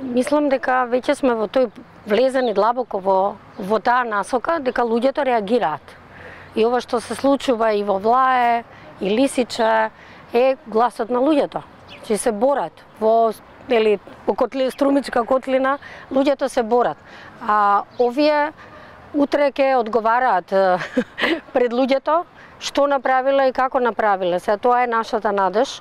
Мислам дека веќе сме во тој влезени длабоко во таа насока, дека луѓето реагираат. И ова што се случува и во Влае, и Лисиче, е гласот на луѓето. Че се борат во Струмичка котлина, луѓето се борат. А овие утре ќе одговараат пред луѓето што направиле и како направиле. Се тоа е нашата надеж.